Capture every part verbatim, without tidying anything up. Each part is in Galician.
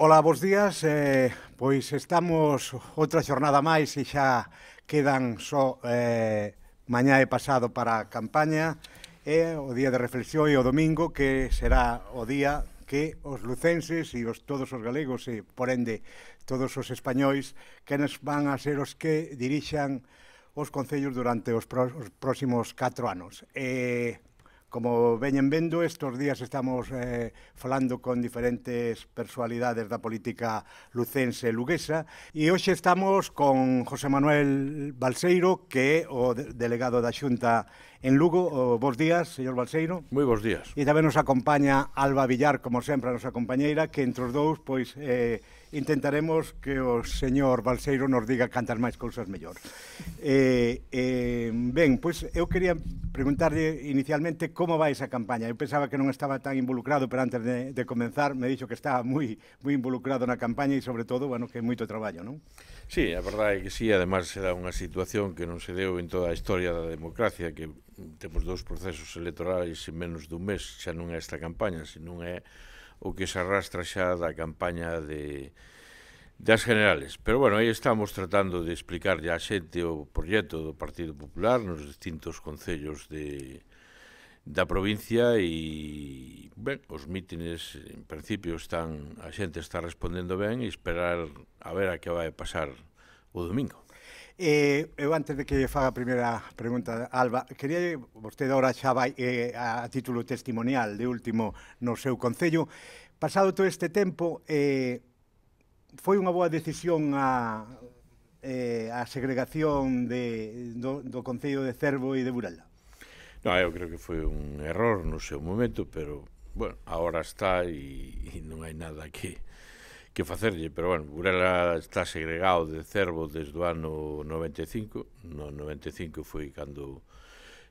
Ola, bos días. Eh, pois estamos outra xornada máis e xa quedan só eh, mañá e pasado para a campaña e o día de reflexión e o domingo, que será o día que os lucenses e os, todos os galegos e, por ende, todos os españois que nos van a ser os que dirixan os concellos durante os, pro, os próximos catro anos. E como veñen vendo, estes días estamos eh, falando con diferentes personalidades da política lucense e luguesa e hoxe estamos con José Manuel Balseiro, que é o delegado da Xunta en Lugo. O, bos días, señor Balseiro. Moi bons días. E tamén nos acompaña Alba Villar, como sempre, a nosa compañeira, que entre os dous, pois, eh, intentaremos que o señor Balseiro nos diga cantas máis cousas mellor. Eh, eh, ben, pois, eu quería preguntarlle inicialmente como vai esa campaña. Eu pensaba que non estaba tan involucrado, pero antes de, de comenzar me dixo que estaba moi, moi involucrado na campaña e, sobre todo, bueno, que é moito traballo, non? Sí, a verdade é que sí, además será unha situación que non se deu en toda a historia da democracia, que temos dous procesos electorais en menos dun mes, xa non é esta campaña, senón é o que se arrastra xa da campaña de das generales. Pero, bueno, aí estamos tratando de explicar ya a xente o proxecto do Partido Popular nos distintos concellos de da provincia e, ben, os mítines, en principio, están, a xente está respondendo ben e esperar a ver a que vai pasar o domingo. Eh, eu antes de que faga a primeira pregunta, Alba, quería, vostede agora xa vai eh, a título testimonial de último no seu concello. Pasado todo este tempo, eh, foi unha boa decisión a, eh, a segregación de, do, do concello de Cervo e de Burela? No, eu creo que foi un error no seu momento, pero, bueno, agora está e, e non hai nada que, que facerlle. Pero, bueno, Burela está segregado de Cervo desde o ano noventa e cinco. No noventa e cinco foi cando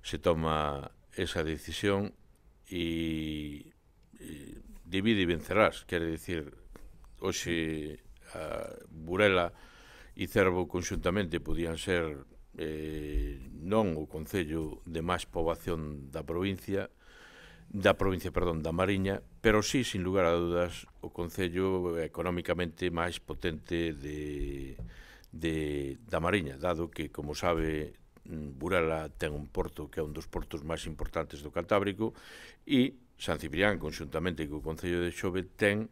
se toma esa decisión e, e divide e vencerás. Quere dicir, hoxe a Burela e Cervo conxuntamente podían ser eh, non o concello de máis poboación da provincia, da provincia, perdón, da Mariña, pero sí, sin lugar a dudas, o concello económicamente máis potente de, de, da Mariña, dado que, como sabe, Burela ten un porto que é un dos portos máis importantes do Cantábrico e San Ciprián, conxuntamente co concello de Xove, ten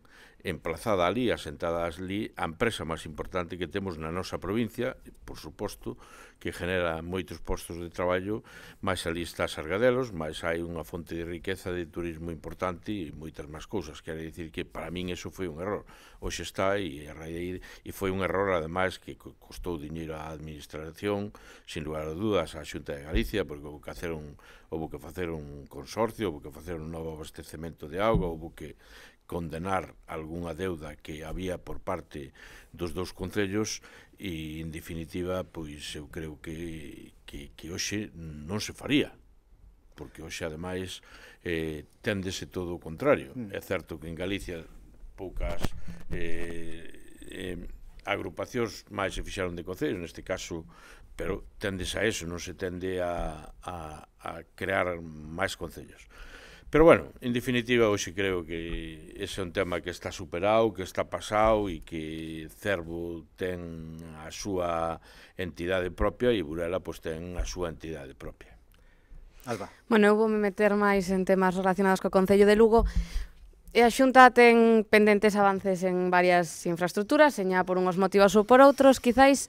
emplazada ali, asentada ali, a empresa máis importante que temos na nosa provincia, por suposto, que genera moitos postos de traballo, máis ali está Sargadelos, máis hai unha fonte de riqueza de turismo importante e moitas máis cousas. Quere dicir que para min eso foi un error. Hoxe está e, e foi un error, ademais, que costou diñeiro á administración, sin lugar a dudas, á Xunta de Galicia, porque houve que facer un, houve que facer un consorcio, houve que facer un novo abastecemento de auga, houve que condenar algunha deuda que había por parte dos dous concellos e, en definitiva, pois eu creo que, que, que hoxe non se faría, porque hoxe, ademais, eh, téndese todo o contrario. Mm. É certo que en Galicia poucas eh, eh, agrupacións máis se fixaron de concellos, neste caso, pero tendes a eso, non se tende a, a, a crear máis concellos. Pero, bueno, en definitiva, hoxe creo que ese é un tema que está superado, que está pasado e que Cervo ten a súa entidade propia e Burela pois ten a súa entidade propia. Alba. Bueno, eu voume meter máis en temas relacionados co Concello de Lugo. E a Xunta ten pendentes avances en varias infraestructuras, seña por unhos motivos ou por outros. Quizáis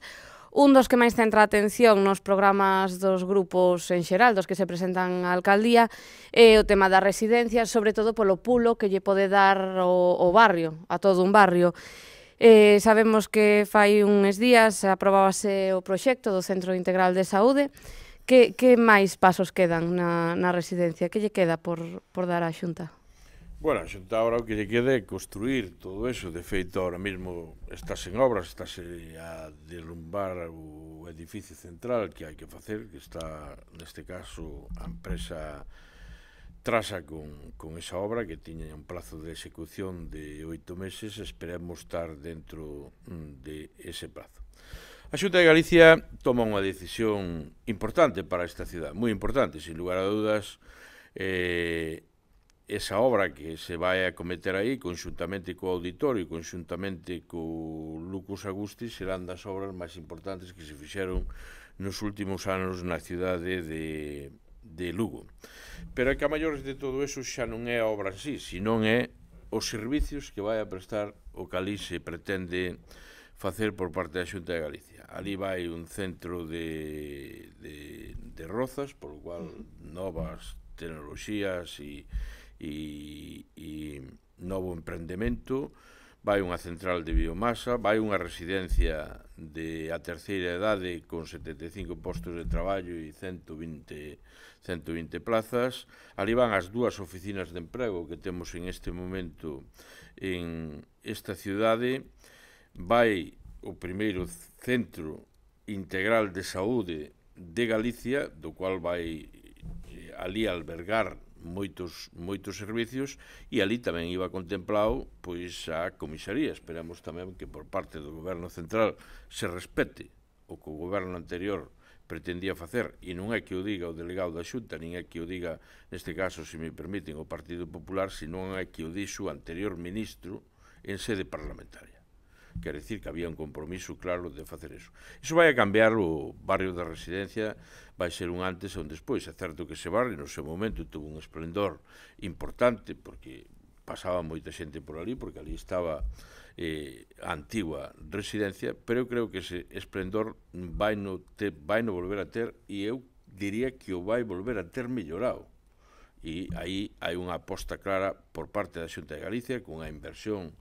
un dos que máis centra a atención nos programas dos grupos en xeral, dos que se presentan á alcaldía, é o tema das residencias, sobre todo polo pulo que lle pode dar o, o barrio, a todo un barrio. Eh, sabemos que fai uns días aprobábase o proxecto do Centro Integral de Saúde. Que, que máis pasos quedan na, na residencia? Que lle queda por, por dar á Xunta? Bueno, a Xunta agora o que lle queda é construir todo eso. De feito, ahora mesmo estás en obras, estás a derrumbar o edificio central que hai que facer, que está, neste caso, a empresa Trasa con, con esa obra, que tiña un plazo de execución de oito meses. Esperemos estar dentro de ese plazo. A Xunta de Galicia toma unha decisión importante para esta cidade, moi importante, sin lugar a dudas. eh, esa obra que se vai a cometer aí, conxuntamente co auditorio, conxuntamente co Lucus Agusti, serán das obras máis importantes que se fixeron nos últimos anos na cidade de, de Lugo. Pero é que a maiores de todo eso xa non é a obra en sí, senón é os servicios que vai a prestar o que ali se pretende facer por parte da Xunta de Galicia. Ali vai un centro de, de, de rozas, por lo cual novas tecnoloxías e E, e novo emprendemento, vai unha central de biomasa, vai unha residencia de a terceira idade con setenta e cinco postos de traballo e ciento vinte plazas. Ali van as dúas oficinas de emprego que temos en este momento en esta cidade. Vai o primeiro centro integral de saúde de Galicia, do cual vai ali albergar moitos moitos servicios, e ali tamén iba contemplado pois a comisaría. Esperamos tamén que por parte do goberno central se respete o que o goberno anterior pretendía facer, e non é que o diga o delegado da Xunta, nin é que o diga, neste caso, se me permiten, o Partido Popular, senón é que o dixo o anterior ministro en sede parlamentaria. Quer dicir que había un compromiso claro de facer eso. Iso vai a cambiar o barrio da Residencia, vai ser un antes e un despois. É certo que ese barrio no seu momento tuvo un esplendor importante, porque pasaba moita xente por ali, porque ali estaba eh, a antigua residencia, pero eu creo que ese esplendor vai no, te, vai no volver a ter, e eu diría que o vai volver a ter mellorado. E aí hai unha aposta clara por parte da Xunta de Galicia, con unha inversión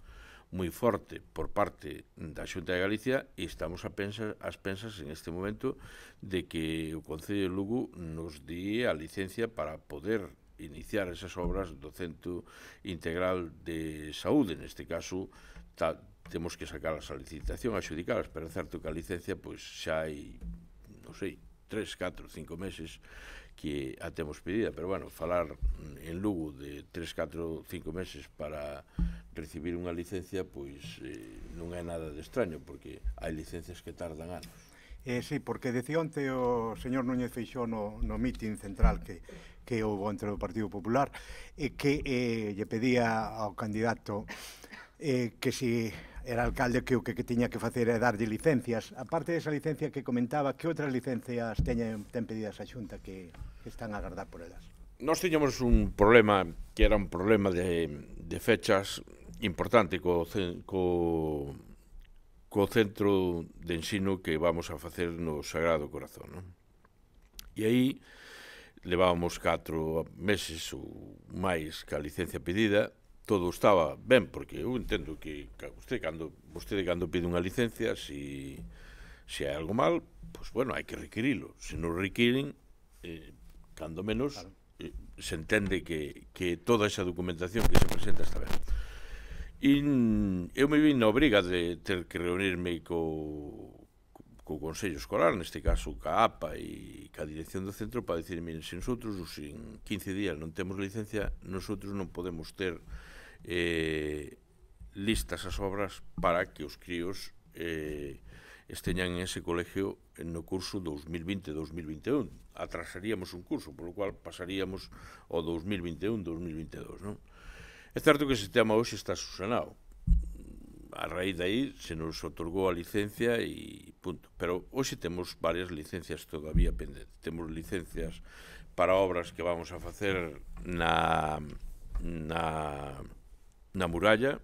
moi forte por parte da Xunta de Galicia, e estamos a pensar, as pensas en este momento de que o Concello de Lugo nos dí a licencia para poder iniciar esas obras do Centro Integral de Saúde. Neste caso ta, temos que sacalas a licitación, a xudicalas, pero é certo que a licencia pois xa hai, non sei, tres, catro, cinco meses que a temos pedida, pero bueno, falar en Lugo de tres, catro, cinco meses para recibir unha licencia, pois eh, non é nada de extraño, porque hai licencias que tardan anos. Eh, sí, porque decía onte o señor Núñez Feixóo no, no mitin central que, que houve entre o Partido Popular, eh, que eh, lle pedía ao candidato eh, que si era alcalde que o que, que tiña que facer é darlle licencias. Aparte desa licencia que comentaba, que outras licencias teñen, ten pedidas a Xunta que, que están a agardar por elas? Nós tiñamos un problema que era un problema de, de fechas importante co, co, co centro de ensino que vamos a facer no Sagrado Corazón, non? E aí levábamos catro meses ou máis ca licencia pedida. Todo estaba ben, porque eu entendo que vostede cando, vostede cando pide unha licencia, se si, si hai algo mal, pois, bueno, hai que requirilo. Se non requiren, eh, cando menos, claro, eh, se entende que, que toda esa documentación que se presenta está ben. E eu me vi na obriga de ter que reunirme co, co Consello Escolar, neste caso ca A P A e ca dirección do centro, para dicir, miren, se nosotros en quince días non temos licencia, nosotros non podemos ter eh, listas as obras para que os críos eh, esteñan en ese colegio no curso dos mil vinte dos mil vinte e un. Atrasaríamos un curso, por lo cual pasaríamos ao dos mil vinte e un dos mil vinte e dous, non? É certo que ese tema hoxe está susanado. A raíz de aí se nos otorgou a licencia e punto. Pero hoxe temos varias licencias todavía pendentes. Temos licencias para obras que vamos a facer na, na, na muralla.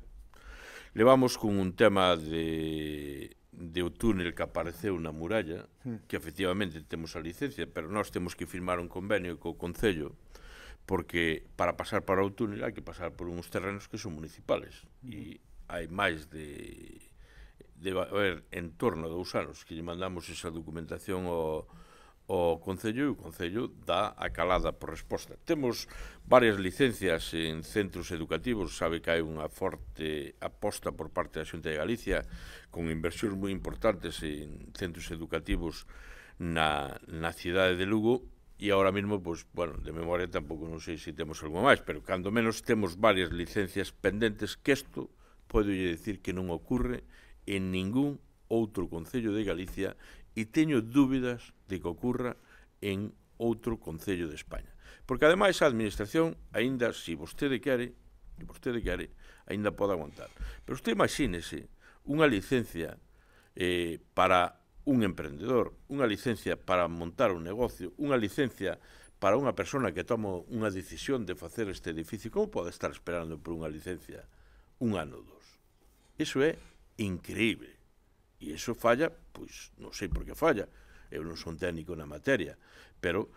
Levamos con un tema de, de o túnel que apareceu na muralla, que efectivamente temos a licencia, pero nós temos que firmar un convenio co Concello, porque para pasar para o túnel hai que pasar por uns terrenos que son municipales, e hai máis de, de haber en torno a dous anos que lle mandamos esa documentación ao, ao Concello, e o Concello dá a calada por resposta. Temos varias licencias en centros educativos, sabe que hai unha forte aposta por parte da Xunta de Galicia con inversións moi importantes en centros educativos na, na cidade de Lugo. E agora mesmo, pois, bueno, de memoria tampouco non sei se temos algo máis, pero cando menos temos varias licencias pendentes, que isto podo dicir que non ocorre en ningún outro concello de Galicia, e teño dúbidas de que ocorra en outro concello de España. Porque, ademais, a administración, aínda, se vostede quere, se vostede quere, aínda pode aguantar. Pero usted imagínese unha licencia eh, para un emprendedor, unha licencia para montar un negocio, unha licencia para unha persona que toma unha decisión de facer este edificio. Como pode estar esperando por unha licencia un ano ou dos? Iso é increíble. E iso falla, pois, non sei por que falla. Eu non son técnico na materia, pero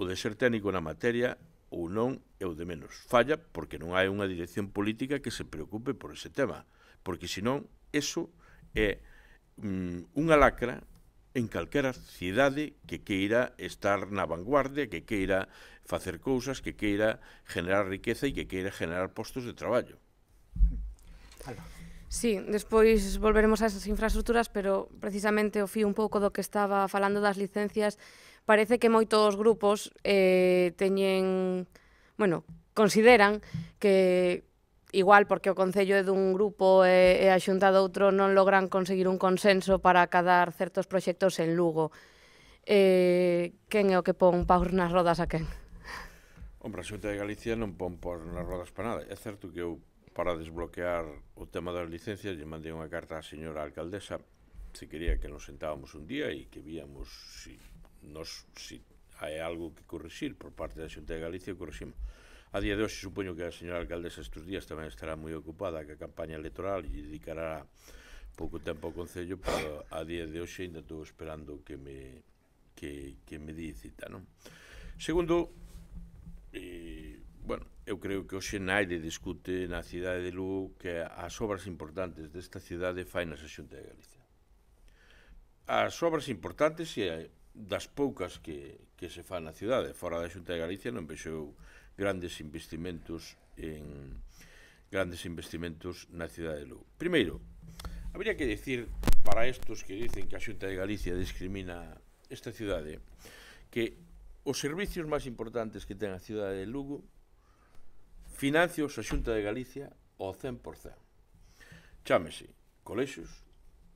o de ser técnico na materia ou non é o de menos. Falla porque non hai unha dirección política que se preocupe por ese tema. Porque, senón, iso é mm, unha lacra en calquera cidade que queira estar na vanguardia, que queira facer cousas, que queira generar riqueza e que queira generar postos de traballo. Sí, despois volveremos a esas infraestructuras, pero precisamente o fío un pouco do que estaba falando das licencias. Parece que moitos grupos eh, teñen, bueno, consideran que igual porque o Concello é dun grupo e, e a Xunta de outro non logran conseguir un consenso para acadar certos proxectos en Lugo. Eh, quen é o que pon paus nas rodas a quen? Hombre, a Xunta de Galicia non pon paus nas rodas para nada. É certo que eu, para desbloquear o tema das licencias, lle mandei unha carta á señora alcaldesa se quería que nos sentábamos un día e que víamos si, nos, si hai algo que corrixir por parte da Xunta de Galicia, corriximos. A día de hoxe supoño que a señora alcaldesa estes días tamén estará moi ocupada ca campaña electoral e dedicará pouco tempo ao Concello, pero a día de hoxe ainda estou esperando que me, que, que me di cita, non? Segundo, eh, bueno, eu creo que hoxe naide discute na cidade de Lugo que as obras importantes desta cidade fai na Xunta de Galicia. As obras importantes e das poucas que, que se fan na cidade, fora da Xunta de Galicia non vexo grandes investimentos en grandes investimentos na cidade de Lugo. Primeiro, habría que decir para estos que dicen que a Xunta de Galicia discrimina esta cidade que os servicios máis importantes que ten a cidade de Lugo financios a Xunta de Galicia ao cen por cen. Chámese colexios,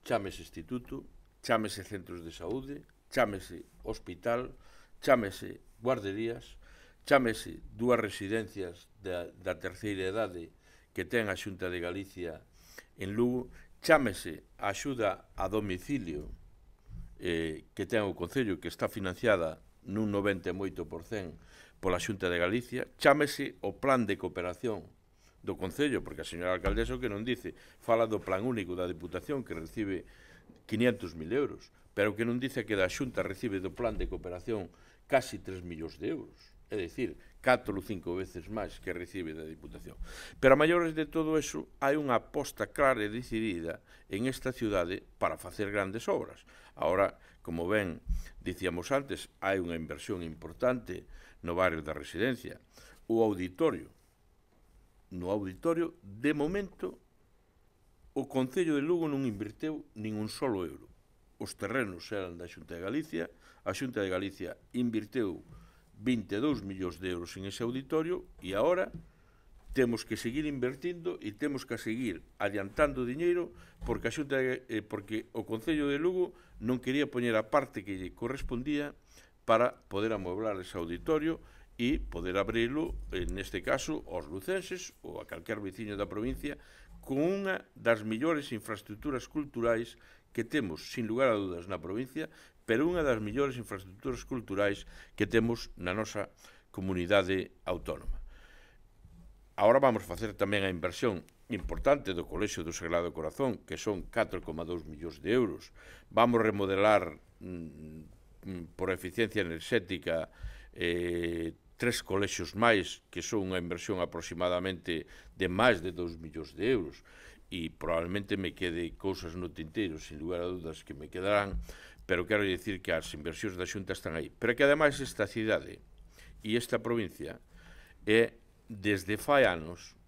chámese instituto, chámese centros de saúde, chámese hospital, chámese guarderías, chámese dúas residencias da, da terceira idade que ten a Xunta de Galicia en Lugo, chámese a axuda a domicilio eh, que ten o Concello, que está financiada nun noventa e oito por cen pola Xunta de Galicia, chámese o plan de cooperación do Concello, porque a señora alcaldesa o que non dice, fala do plan único da Diputación que recibe quinientos mil euros, pero que non dice que da Xunta recibe do plan de cooperación casi tres millóns de euros. É dicir, catro ou cinco veces máis que recibe da Diputación. Pero a maiores de todo eso, hai unha aposta clara e decidida en esta cidade para facer grandes obras. Ahora, como ben dicíamos antes, hai unha inversión importante no barrio da Residencia. O auditorio, no auditorio, de momento, o Concello de Lugo non inverteu nin un solo euro. Os terrenos eran da Xunta de Galicia, a Xunta de Galicia inverteu vinte e dous millóns de euros en ese auditorio e agora temos que seguir invertindo e temos que seguir adiantando diñeiro porque a Xunta de, eh, porque o Concello de Lugo non quería poñer a parte que lle correspondía para poder amueblar ese auditorio e poder abrilo, neste caso, aos lucenses ou a calquer veciño da provincia con unha das mellores infraestructuras culturais que temos, sin lugar a dudas, na provincia, pero unha das mellores infraestructuras culturais que temos na nosa comunidade autónoma. Agora vamos facer tamén a inversión importante do Colexio do Sagrado Corazón, que son catro coma dous millóns de euros. Vamos remodelar mm, por eficiencia enerxética eh, tres colexios máis, que son unha inversión aproximadamente de máis de dous millóns de euros. E probablemente me quede cousas no tinteiro, sin lugar a dudas que me quedarán, pero quero dicir que as inversións da Xunta están aí. Pero que ademais esta cidade e esta provincia é, desde fai anos,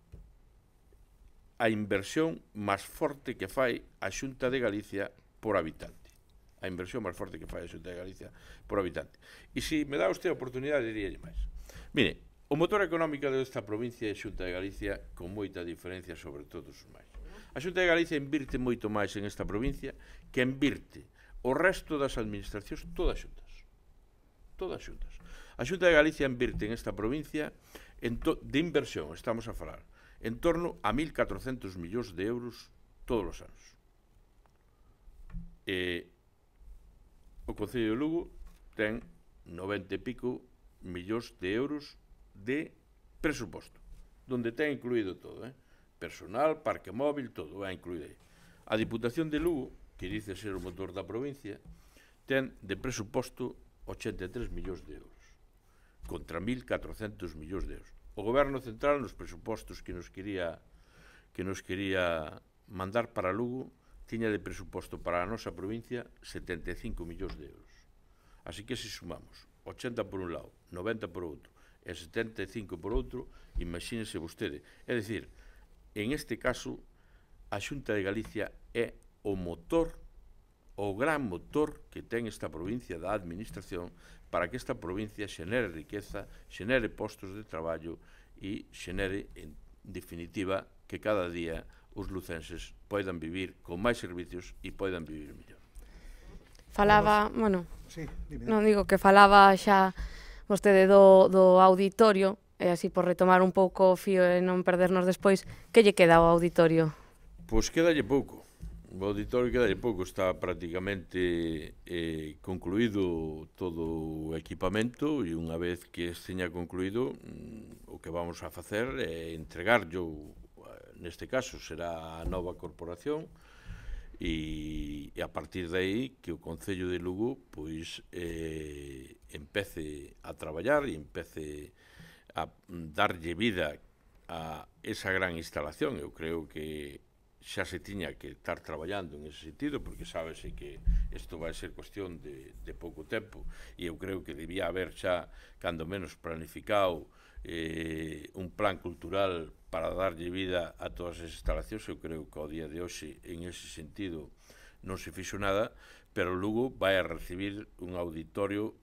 a inversión máis forte que fai a Xunta de Galicia por habitante. A inversión máis forte que fai a Xunta de Galicia por habitante. E se me dá usted a oportunidade, diríalle máis. Mire, o motor económico desta provincia é a Xunta de Galicia, con moita diferencia sobre todos os máis. A Xunta de Galicia invirte moito máis en esta provincia que invirte o resto das administracións, todas xuntas. Todas xuntas. A Xunta de Galicia invirte en esta provincia de inversión, estamos a falar, en torno a mil catrocentos millóns de euros todos os anos. E o Concello de Lugo ten noventa e pico millóns de euros de presuposto, donde ten incluído todo, eh? Personal, parque móvil, todo va incluído aí. A Diputación de Lugo, que dice ser o motor da provincia, ten de presuposto ochenta e tres millóns de euros, contra mil catrocentos millóns de euros. O Goberno Central, nos presupostos que nos quería que nos quería mandar para Lugo, tiña de presuposto para a nosa provincia setenta e cinco millóns de euros. Así que se sumamos ochenta por un lado, noventa por outro e setenta e cinco por outro, imagínese vostede. É dicir, en este caso, a Xunta de Galicia é o motor, o gran motor que ten esta provincia da administración para que esta provincia xenere riqueza, xenere postos de traballo e xenere, en definitiva, que cada día os lucenses poidan vivir con máis servicios e poidan vivir mellor. Falaba, bueno, sí, non digo que falaba xa vostede do, do auditorio, e así por retomar un pouco o fío e non perdernos despois, que lle queda ao auditorio? Pois quedalle pouco. O auditorio quedalle pouco, está prácticamente eh, concluído todo o equipamento e unha vez que esteña concluído, o que vamos a facer é entregarlo, neste caso será a nova corporación, e, e a partir de aí que o Concello de Lugo pois eh, empece a traballar e empece a darlle vida a esa gran instalación. Eu creo que xa se tiña que estar traballando en ese sentido, porque sábese que isto vai ser cuestión de, de pouco tempo, e eu creo que debía haber xa, cando menos planificado, eh, un plan cultural para darlle vida a todas as instalacións. Eu creo que ao día de hoxe, en ese sentido, non se fixo nada, pero Lugo vai a recibir un auditorio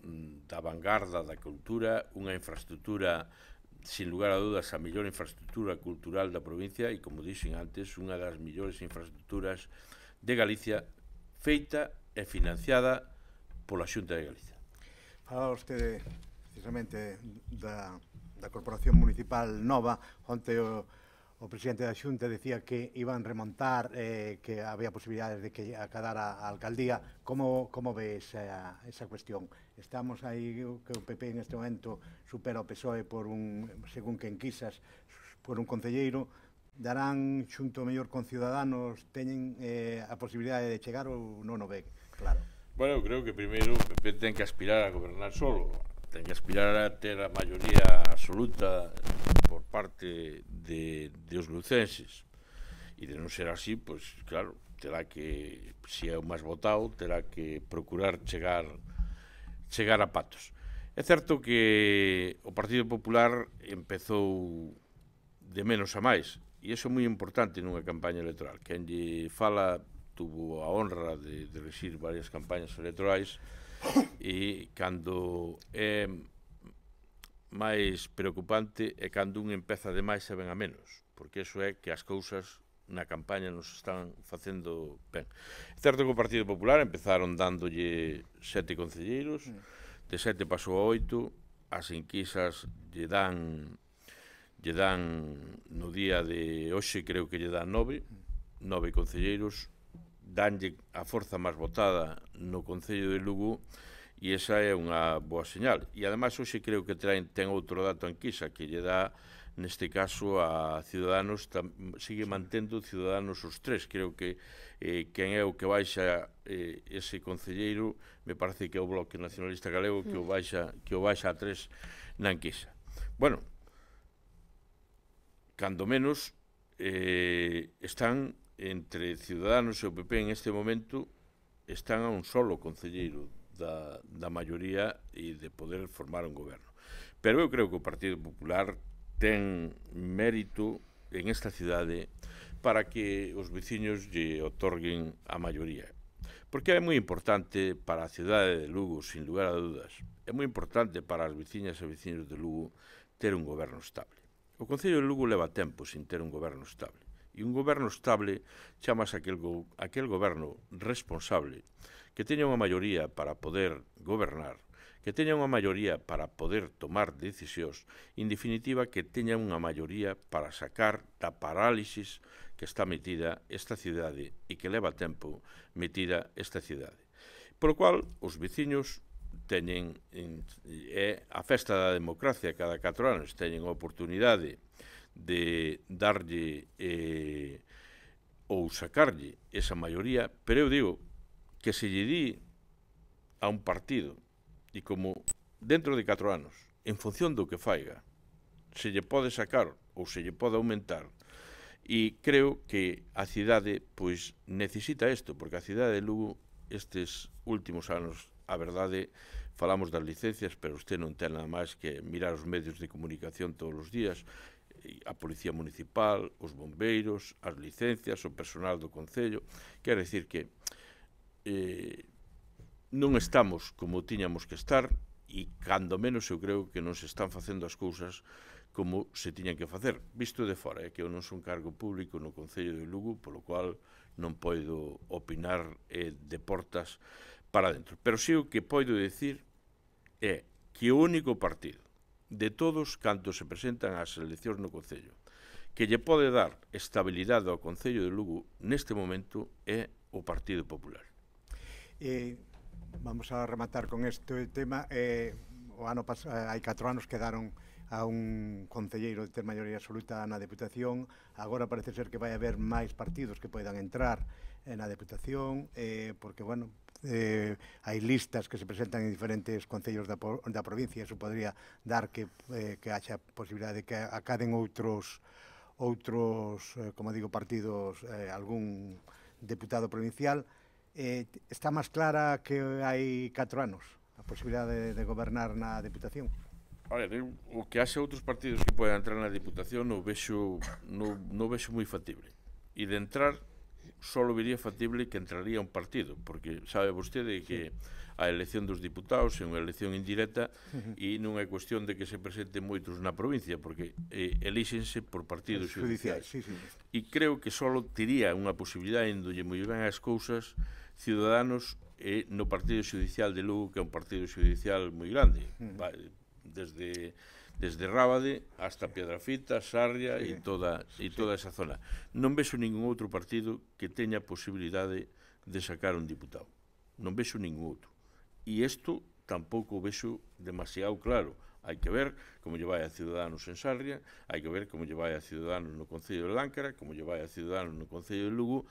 da vanguarda da cultura, unha infraestructura, sin lugar a dudas, a mellor infraestructura cultural da provincia e, como dixen antes, unha das mellores infraestructuras de Galicia, feita e financiada pola Xunta de Galicia. Falaba vostede precisamente da, da Corporación Municipal nova. Onte o, o presidente da Xunta decía que iban remontar, eh, que había posibilidades de que acadara a alcaldía. Como, como ve esa, esa cuestión? Estamos aí, que o P P en este momento supera o P S O E por un, según quen quisas, por un concelleiro. Darán xunto mellor con Ciudadanos, teñen eh, a posibilidade de chegar ou non o ve? Claro. Bueno, eu creo que primeiro o P P ten que aspirar a gobernar solo, ten que aspirar a ter a maioría absoluta por parte de, de os lucenses, e de non ser así, pois claro, terá que, se é o máis votado, terá que procurar chegar chegar a patos. É certo que o Partido Popular empezou de menos a máis, e iso é moi importante nunha campaña electoral. Quen lle fala tuvo a honra de, de rexir varias campañas electorais, e cando é máis preocupante é cando un empeza de máis e ven a menos, porque iso é que as cousas na campaña nos están facendo ben. É certo que o Partido Popular empezaron dándolle sete concelleiros, de sete pasou a oito, as enquisas lle dan lle dan no día de hoxe, creo que lle dan nove, nove concelleiros, danlle a forza máis votada no Concello de Lugo, e esa é unha boa señal. E ademais hoxe creo que ten, ten outro dato a enquisa que lle dá, neste caso, a Ciudadanos, tam, sigue mantendo Ciudadanos os tres. Creo que eh, quen é o que baixa eh, ese concelleiro, me parece que é o Bloque Nacionalista Galego que o baixa, que o baixa a tres na enquisa. Bueno, cando menos eh, están entre Ciudadanos e o P P en este momento, están a un solo concelleiro da, da maioría e de poder formar un goberno. Pero eu creo que o Partido Popular ten mérito en esta cidade para que os veciños lle otorguen a maioría. Porque é moi importante para a cidade de Lugo, sin lugar a dudas, é moi importante para as veciñas e veciños de Lugo ter un goberno estable. O Concello de Lugo leva tempo sin ter un goberno estable. E un goberno estable chamase aquel, go, aquel goberno responsable que teña unha maioría para poder gobernar, que teñan unha maioría para poder tomar decisións, en definitiva que teñan unha maioría para sacar da parálisis que está metida esta cidade e que leva tempo metida esta cidade. Por o cual, os veciños teñen, é a festa da democracia cada catro anos, teñen a oportunidade de darlle eh, ou sacarlle esa maioría, pero eu digo que se lle di a un partido e como dentro de catro anos, en función do que faiga, se lle pode sacar ou se lle pode aumentar, e creo que a cidade pois necesita isto, porque a cidade de Lugo estes últimos anos, a verdade, falamos das licencias, pero usted non ten nada máis que mirar os medios de comunicación todos os días, a Policía Municipal, os bombeiros, as licencias, o personal do Concello, quer decir que eh, non estamos como tiñamos que estar e, cando menos, eu creo que non se están facendo as cousas como se tiñan que facer. Visto de fora, é que eu non son cargo público no Concello de Lugo, polo cual non podo opinar eh, de portas para dentro. Pero si o que podo dicir é que o único partido de todos cantos se presentan ás eleccións no Concello que lle pode dar estabilidade ao Concello de Lugo neste momento é o Partido Popular. Eh, vamos a rematar con este tema. Eh, o ano pasado, hai catro anos quedaron a un concelleiro de ter maioría absoluta na Deputación. Agora parece ser que vai haber máis partidos que poidan entrar na Deputación, eh, porque, bueno, eh, hai listas que se presentan en diferentes concellos da, da provincia. Eso podría dar que, eh, que haxa posibilidade de que acaden outros, outros eh, como digo, partidos, eh, algún deputado provincial. Eh, está máis clara que hai catro anos a posibilidade de, de gobernar na Deputación? Olha, o que haxe outros partidos que poden entrar na Deputación non vexo, non, non vexo moi factible. E de entrar, só vería factible que entraría un partido, porque sabe vostede que a elección dos diputados é unha elección indirecta e non é cuestión de que se presenten moitos na provincia, porque eh, elíxense por partidos judiciais. Sí, sí. E creo que só tería unha posibilidade en dolle moi ben as cousas Ciudadanos e no Partido Judicial de Lugo, que é un partido judicial moi grande, desde desde Rábade hasta Piedrafita, Sarria e toda e toda esa zona. Non vexo ningún outro partido que teña posibilidade de sacar un diputado. Non vexo ningún outro. E isto tampouco vexo demasiado claro. Hai que ver como lle vai a Ciudadanos en Sarria, hai que ver como lle vai a Ciudadanos no Concello de Láncara, como lle vai a Ciudadanos no Concello de Lugo,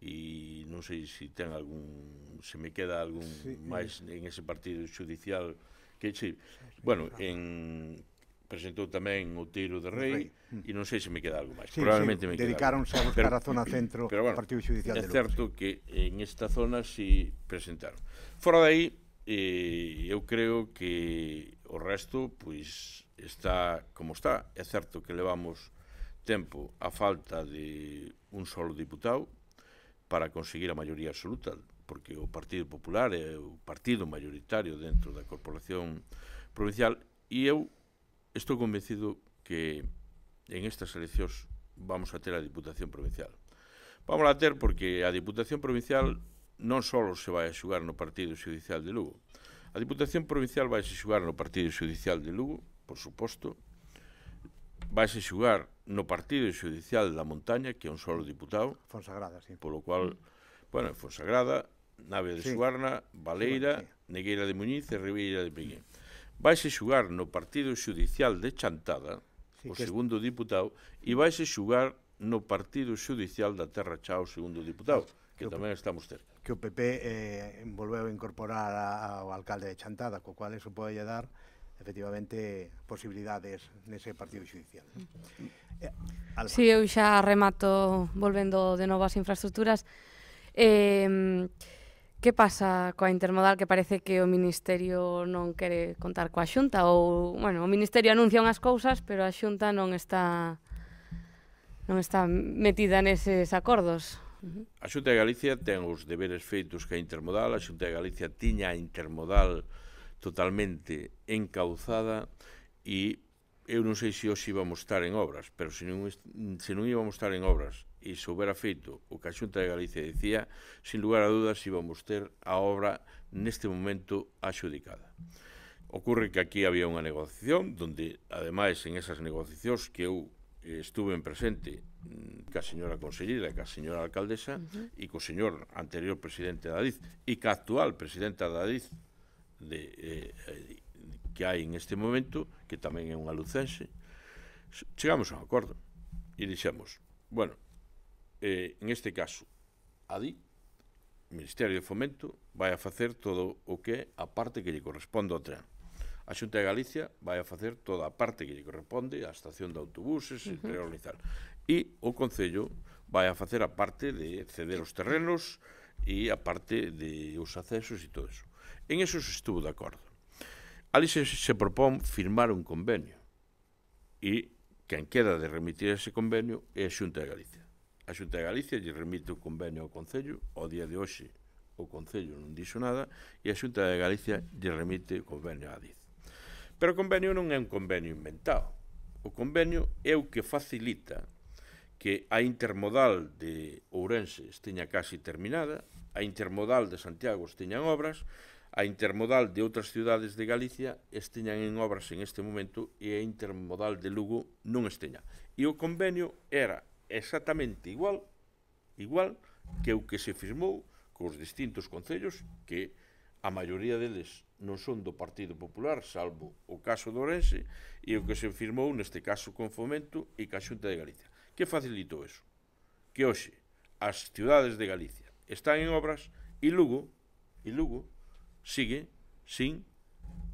e non sei se ten algún, se me queda algún sí, máis en ese partido judicial que, sí, bueno, en presentou tamén o Tiro de Rei, e non sei se me queda algo máis. Sí, probablemente sí, me queda dedicáronse a buscar pero, a zona centro do bueno, Partido Judicial de Lugo. É certo que en esta zona si presentaron. Fora de aí, eh, eu creo que o resto pois está como está. É certo que levamos tempo a falta de un solo diputado para conseguir a maioría absoluta, porque o Partido Popular é o partido maioritario dentro da Corporación Provincial, e eu estou convencido que en estas eleccións vamos a ter a Diputación Provincial. Vamos a ter porque a Diputación Provincial non só se vai a xugar no Partido Judicial de Lugo. A Diputación Provincial vai a xugar no Partido Judicial de Lugo, por suposto, vai a xugar no Partido Judicial da Montaña, que é un solo diputado, Fonsagrada, sí. Polo cual, bueno, Fonsagrada, Nave de sí. Suarna, Baleira, sí, sí. Negueira de Muñiz e Ribeira de Peguín. Vaise xugar no Partido Judicial de Chantada, sí, o segundo es... diputado, e vaise xugar no Partido Judicial da Terra Chao, o segundo diputado, que, que tamén estamos cerca. Que o P P eh, volveu a incorporar ao alcalde de Chantada, co cual eso pode dar efectivamente posibilidades nese Partido Judicial. Eh, Si, sí, eu xa remato volvendo de novo ás infraestructuras. Eh, que pasa coa intermodal, que parece que o Ministerio non quere contar coa Xunta, ou, bueno, o Ministerio anuncia unhas cousas, pero a Xunta non está non está metida neses acordos. A Xunta de Galicia ten os deberes feitos que a intermodal, a Xunta de Galicia tiña a intermodal totalmente encauzada, e eu non sei se hoxe íbamos estar en obras, pero se non, se non íbamos estar en obras e se houbera feito o que a Xunta de Galicia decía, sin lugar a dudas íbamos ter a obra neste momento axudicada. Ocurre que aquí había unha negociación donde, ademais, en esas negociacións que eu estuve en presente ca señora consellera e ca señora alcaldesa uh-huh. e co señor anterior presidente da Adiz e ca actual presidenta da Adiz de, eh, que hai en este momento, que tamén é unha lucense, chegamos a un acordo e dixemos, bueno, eh, en este caso, a Adiz, o Ministerio de Fomento, vai a facer todo o que é a parte que lle corresponde ao tren. A Xunta de Galicia vai a facer toda a parte que lle corresponde á estación de autobuses uh-huh. e reorganizar. E o Concello vai a facer a parte de ceder os terrenos e a parte de os accesos e todo eso. En eso se estuvo de acordo. Ali se, se propón firmar un convenio e quen queda de remitir ese convenio é a Xunta de Galicia. A Xunta de Galicia lle remite o convenio ao Concello, ao día de hoxe o Concello non dixo nada e a Xunta de Galicia lle remite o convenio á Adiz. Pero o convenio non é un convenio inventado. O convenio é o que facilita que a intermodal de Ourense esteña casi terminada, a intermodal de Santiago esteñan obras, a intermodal de outras ciudades de Galicia esteñan en obras en este momento e a intermodal de Lugo non esteña. E o convenio era exactamente igual, igual que o que se firmou cos distintos concellos que a maioría deles non son do Partido Popular, salvo o caso de Ourense, e o que se firmou neste caso con Fomento e ca Xunta de Galicia. Que facilitou eso? Que hoxe as ciudades de Galicia están en obras e Lugo, e Lugo sigue sin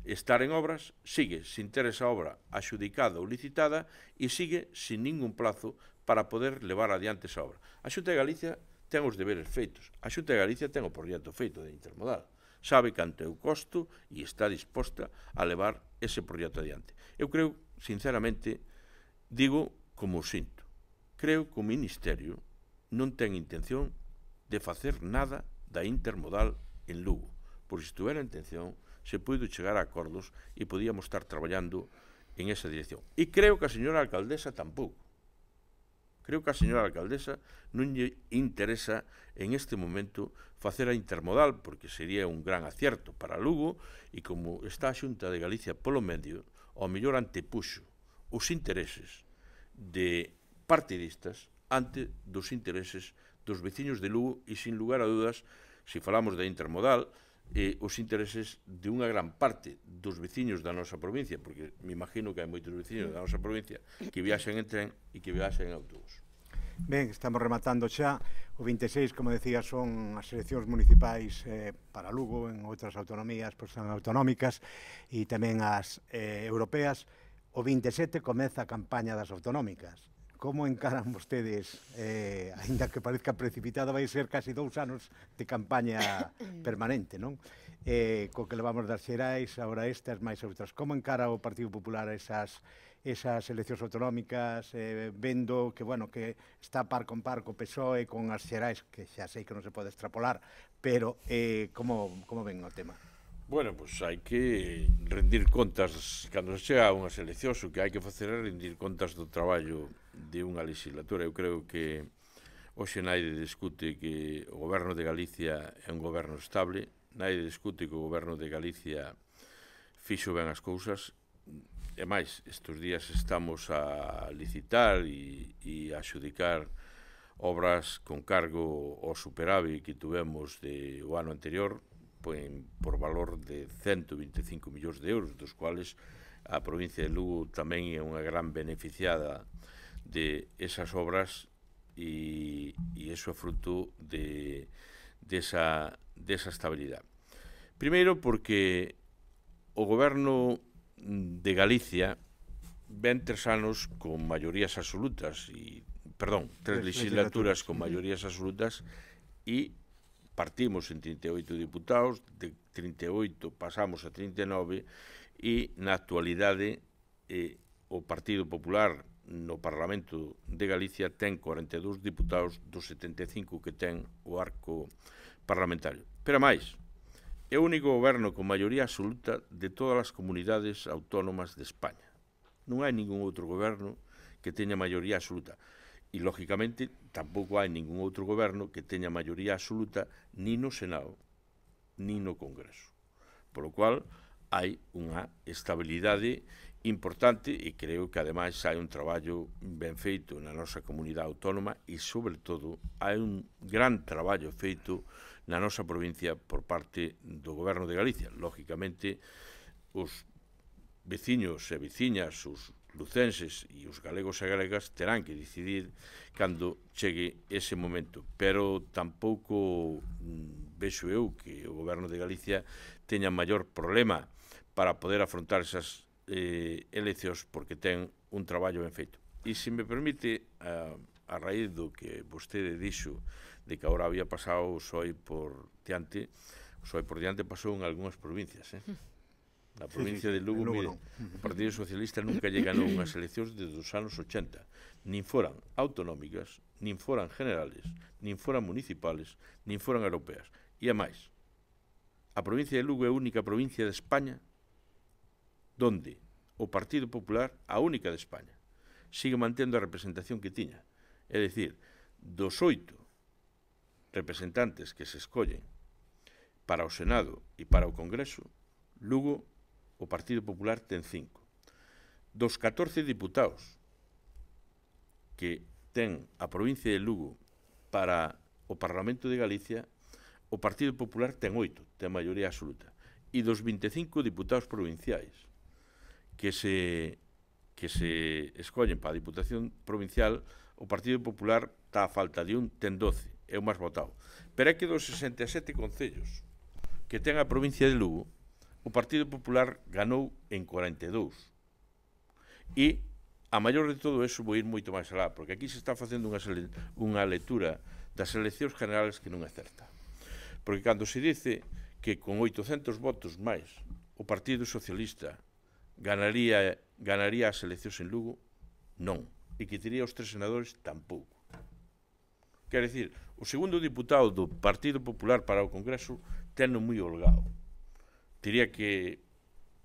estar en obras, sigue sin ter esa obra axudicada ou licitada e sigue sin ningún plazo para poder levar adiante esa obra. A Xunta de Galicia ten os deberes feitos. A Xunta de Galicia ten o proxecto feito de intermodal. Sabe canto é o costo e está disposta a levar ese proxecto adiante. Eu creo, sinceramente, digo como o sinto, creo que o Ministerio non ten intención de facer nada da intermodal en Lugo, por se estuvera intención, se puido chegar a acordos e podíamos estar traballando en esa dirección. E creo que a señora alcaldesa tampouco. Creo que a señora alcaldesa non lle interesa en este momento facer a intermodal, porque sería un gran acierto para Lugo, e como está a Xunta de Galicia polo medio, ao mellor antepuxo os intereses de partidistas ante dos intereses dos veciños de Lugo e, sin lugar a dudas, se falamos da intermodal, eh, os intereses de unha gran parte dos veciños da nosa provincia, porque me imagino que hai moitos veciños da nosa provincia que viaxen en tren e que viaxen en autobús. Ben, estamos rematando xa. O vinte e seis, como decía, son as eleccións municipais eh, para Lugo, en outras autonomías, pois son autonómicas, e tamén as eh, europeas. O vinte e sete comeza a campaña das autonómicas. Como encaran vostedes, eh, ainda que parezca precipitado, vai ser casi dous anos de campaña permanente, non? Eh, co que levamos das xerais, agora estas, máis outras. Como encara o Partido Popular esas, esas eleccións autonómicas, eh, vendo que, bueno, que está par con par co P S O E, con as xerais, que xa sei que non se pode extrapolar, pero eh, como, como ven o tema? Bueno, pois pues hai que rendir contas, cando se chega a unhas eleccións, o que hai que facer é rendir contas do traballo de unha legislatura. Eu creo que hoxe naide discute que o goberno de Galicia é un goberno estable, naide discute que o goberno de Galicia fixo ben as cousas, e máis, estes días estamos a licitar e, e a xudicar obras con cargo ao superávit que tuvemos de, o ano anterior, por valor de cento vinte e cinco millóns de euros, dos cuales a provincia de Lugo tamén é unha gran beneficiada de esas obras e, e eso é fruto de, de, esa, de esa estabilidade. Primeiro porque o goberno de Galicia ven tres anos con maiorías absolutas e, perdón, tres legislaturas con maiorías absolutas e partimos en trinta e oito diputados, de trinta e oito pasamos a trinta e nove e na actualidade eh, o Partido Popular no Parlamento de Galicia ten cuarenta e dous diputados dos setenta e cinco que ten o arco parlamentario. Pero máis, é o único goberno con maioría absoluta de todas as comunidades autónomas de España. Non hai ningún outro goberno que teña maioría absoluta. E, lógicamente, tampouco hai ningún outro goberno que teña maioría absoluta ni no Senado, ni no Congreso. Por lo cual, hai unha estabilidade importante e creo que ademais hai un traballo ben feito na nosa comunidade autónoma e, sobre todo, hai un gran traballo feito na nosa provincia por parte do Goberno de Galicia. Lógicamente, os veciños e veciñas, os lucenses e os galegos e galegas terán que decidir cando chegue ese momento, pero tampouco mm, vexo eu que o Goberno de Galicia teña maior problema para poder afrontar esas eh, eleccións porque ten un traballo ben feito. E se me permite, a, a raíz do que vostede dixo de que agora había pasado o P S O E por diante, o P S O E por diante pasou en algunhas provincias, eh? Na provincia sí, sí, de Lugo, Lugo mire, o Partido Socialista nunca lle ganou unhas eleccións desde os anos ochenta, nin foran autonómicas, nin foran generales, nin foran municipales, nin foran europeas. E a máis, a provincia de Lugo é a única provincia de España donde o Partido Popular, a única de España, sigue mantendo a representación que tiña. É dicir, dos oito representantes que se escollen para o Senado e para o Congreso, Lugo, o Partido Popular ten cinco. Dos catorce diputados que ten a provincia de Lugo para o Parlamento de Galicia, o Partido Popular ten oito, ten maioría absoluta. E dos vinte e cinco diputados provinciais que se, que se escollen para a Diputación Provincial, o Partido Popular está a falta de un, ten doce, é o máis votado. Pero é que dos sesenta e sete concellos que ten a provincia de Lugo, o Partido Popular ganou en cuarenta e dous. E, a maior de todo eso, vou ir moito máis alá, porque aquí se está facendo unha, unha lectura das eleccións generales que non é certa. Porque cando se dice que con oitocentos votos máis o Partido Socialista ganaría, ganaría as eleccións en Lugo, non. E que tería os tres senadores, tampouco. Quer dicir, o segundo diputado do Partido Popular para o Congreso teno moi holgado. Tería que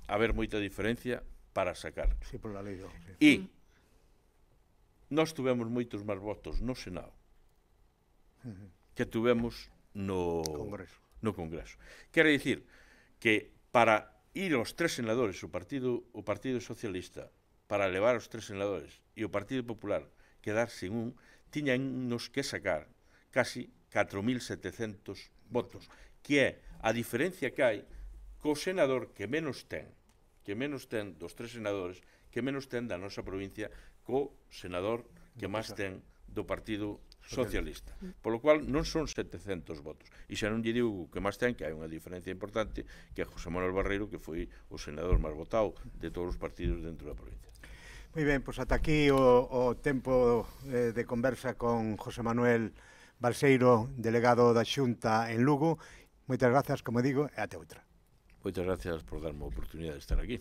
haber moita diferencia para sacar. Sí, por la lei. Sí. E nós tuvemos moitos máis votos no Senado que tuvemos no Congreso. No Congreso. Quer dicir que para ir aos tres senadores, o Partido, o Partido Socialista, para levar os tres senadores e o Partido Popular quedar sin un, tiñanos que sacar casi catro mil setecentos votos, que é a diferencia que hai co senador que menos ten, que menos ten dos tres senadores, que menos ten da nosa provincia, co senador que máis ten do Partido Socialista. Por lo cual non son setecentos votos. E xa non lle digo que máis ten, que hai unha diferencia importante, que é José Manuel Barreiro, que foi o senador máis votado de todos os partidos dentro da provincia. Moi ben, pois ata aquí o, o tempo eh, de conversa con José Manuel Balseiro, delegado da Xunta en Lugo. Moitas grazas, como digo, e até outra. Moitas gracias por darme a oportunidade de estar aquí.